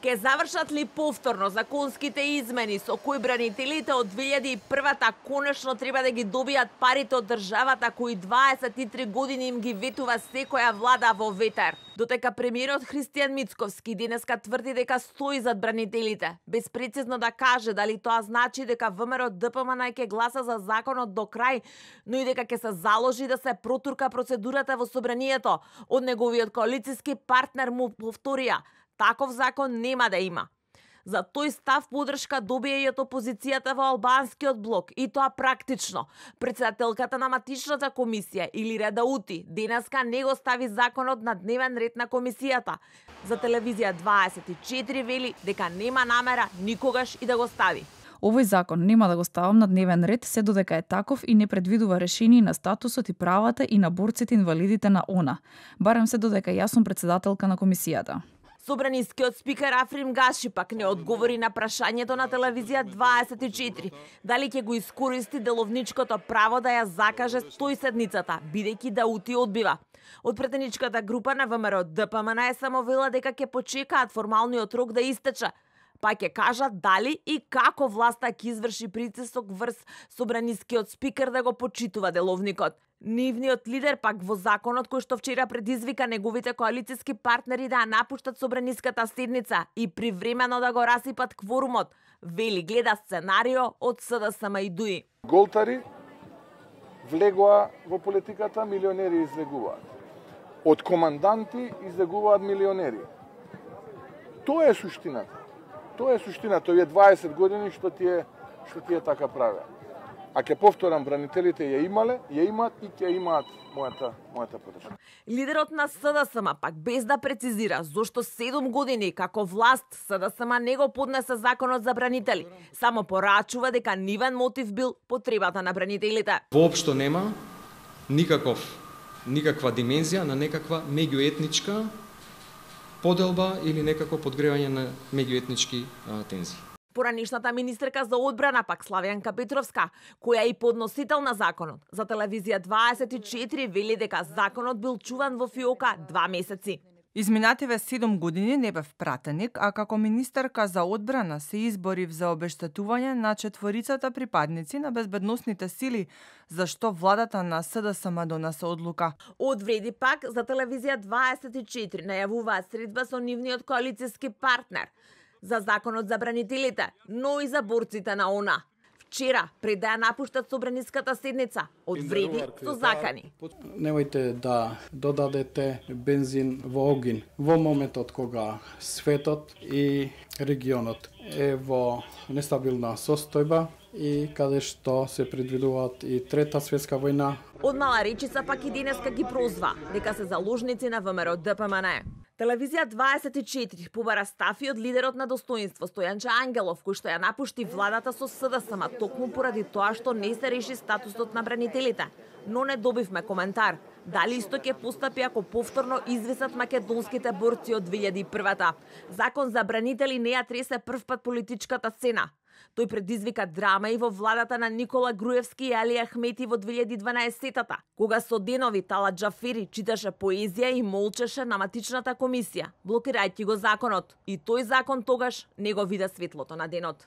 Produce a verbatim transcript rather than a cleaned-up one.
Ке завршат ли повторно законските измени со кои бранителите од две илјади и првата конечно треба да ги добијат парите од државата кои дваесет и три години им ги ветува секоја влада во ветер? Дотека премиерот Христијан Мицковски денеска тврди дека стои зад бранителите, без прецизно да каже дали тоа значи дека ВМРО ДПМН ќе гласа за законот до крај, но и дека ќе се заложи да се протурка процедурата во собранието, од неговиот коалициски партнер му повторија: таков закон нема да има. За тој став поддршка добија и од опозицијата во албанскиот блок, и тоа практично. Председателката на матичната комисија Илира Даути денеска не го стави законот на дневен ред на комисијата. За телевизија дваесет и четири вели дека нема намера никогаш и да го стави. Овој закон нема да го ставам на дневен ред се додека е таков и не предвидува решение на статусот и правата и на борците инвалидите на ОНА. Барем се додека јас сум председателка на комисијата. Собранискиот спикер Африм Гаши пак не одговори на прашањето на телевизија дваесет и четири дали ќе го искористи деловничкото право да ја закаже стои седницата, бидејќи Даути одбива. Од претеничката група на ВМРО ДПМН е само вела дека ќе почекаат формалниот рок да истече, па ќе кажат дали и како власта ќе изврши притисок врз собранискиот спикер да го почитува деловникот. Нивниот лидер пак во законот кој што вчера предизвика неговите коалициски партнери да ја напуштат собраниската седница и привремено да го расипат кворумот, вели гледа сценарио од СДСМ и ДУИ. Голтари влегоа во политиката, милионери излегуваат. Од команданти излегуваат милионери. Тоа е суштината. Тоа е суштината, овие дваесет години што ти е што ти е така правеа. А ќе повторам, бранителите ја имале, ја имаат и ќе имаат мојата мојата поддршка. Лидерот на СДСМ пак без да прецизира зошто седум години како власт СДСМ не го поднесе законот за бранители, само порачува дека нивен мотив бил потребата на бранителите. Воопшто нема никаков никаква димензија на некаква меѓуетничка поделба или некако подгревање на меѓуетнички тензии. Поранишната министерка за одбрана пак Славјанка Петровска, која е и подносител на законот, за телевизија дваесет и четири вели дека законот бил чуван во фиока два месеци. Изминативе седум години не бев пратеник, а како министерка за одбрана се изборив за обештетување на четворицата припадници на безбедносните сили, зашто владата на СДСМ донесе одлука. Одвреди пак за телевизија дваесет и четири најавуваат средба со нивниот коалициски партнер за законот за бранителите, но и за борците на ОНА. Вчера, пред да ја напуштат собраниската седница, одвреди со закани. Немојте да додадете бензин во огин во моментот кога светот и регионот е во нестабилна состојба и каде што се предвидуваат и трета светска војна. Од мала речица пак и денеска ги прозва дека се заложници на ВМРО ДПМН. Телевизија дваесет и четири побара стафи од лидерот на достоинство Стојанче Ангелов, кој што ја напушти владата со СДСМ токму поради тоа што не се реши статусот на бранителите. Но не добивме коментар дали исто ќе постапи ако повторно извисат македонските борци од две илјади и првата. Закон за бранители не ја тресе првпат политичката сцена. Тој предизвика драма и во владата на Никола Груевски и Али Ахмети во две илјади и дванаесетта, кога со денови Талат Џафери читаше поезија и молчеше на матичната комисија, блокирајќи го законот. И тој закон тогаш не го вида светлото на денот.